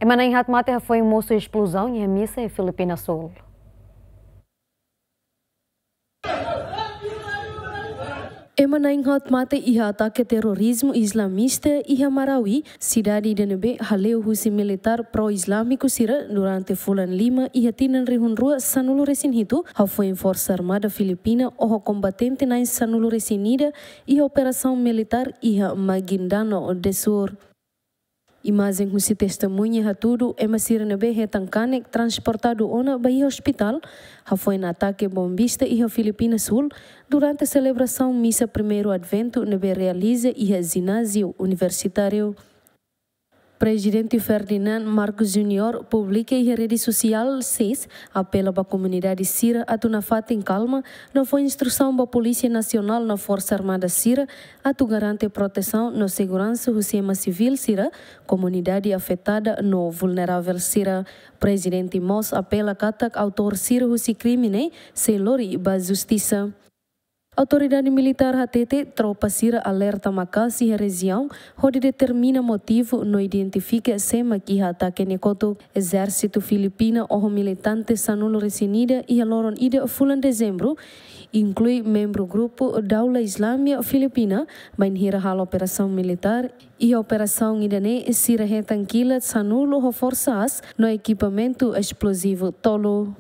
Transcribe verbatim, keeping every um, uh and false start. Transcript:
Ema na'in-haat mate hafoin mosu esplozaun iha misa iha Filipina Súl. Ema na'in-haat mate iha atake terorizmu islamista iha Marawi, sidade ida ne'ebé hale'u husi militár pró-islámiku sira durante fulan lima iha tinan rihun rua sanulu resin hitu, hafoin Forsa Armada Filipina oho kombatente na'in sanulu resin ida iha operasaun militár iha Maguindanao do Sul. Imajen husi testemuña hatudu ema sira ne'ebé hetan kanek transportadu ona ba iha ospitál, hafoin atake bombista iha Filipina Súl, durante selebrasaun misa primeiru Adventu ne'ebé realiza iha jináziu universitáriu. Prezidente Ferdinand Marcos Júnior publika iha rede sosiál X apela ba komunidade sira atu nafatin kalma, no fó instrusaun ba Polísia Nasionál no Forsa Armada sira atu garante protesaun no seguransa husi ema sivíl sira, komunidade afetada no vulneravel sira. Prezidente mós apela katak autór sira husi krime ne'e sei lori ba justisa. Autoridade militár hatete tropa sira alerta maka'as iha rejiaun hodi determina motivu no identifika sé mak iha atake ne'e kotuk. Ezérsitu Filipina oho militante sanulu resin ida iha loron ida fulan Dezembru, inklui membru grupu Daula Islamia Filipina, bainhira halo operasaun militár. Iha operasaun ida-ne'e sira hetan kilat sanulu ho forsa aas no ekipamentu esplozivu tolu.